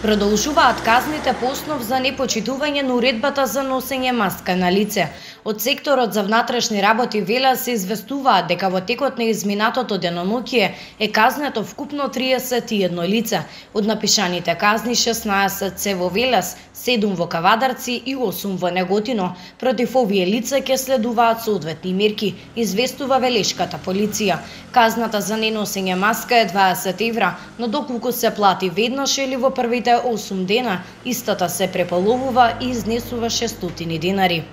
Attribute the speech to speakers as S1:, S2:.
S1: Продолжуваат казните по основ за непочитување на уредбата за носење маска на лице. Од секторот за внатрешни работи велат се известуваат дека во текот на изминатото деноноќие е казнето вкупно 31 лице. Од напишаните казни 16 се во Велес, 7 во Кавадарци и 8 во Неготино. Против овие лица ќе следуваат соодветни мерки, известува велешката полиција. Казната за неносење маска е 20 евра, но доколку се плати веднаш или во првите 8 дена, истата се преполовува и изнесува 600 денари.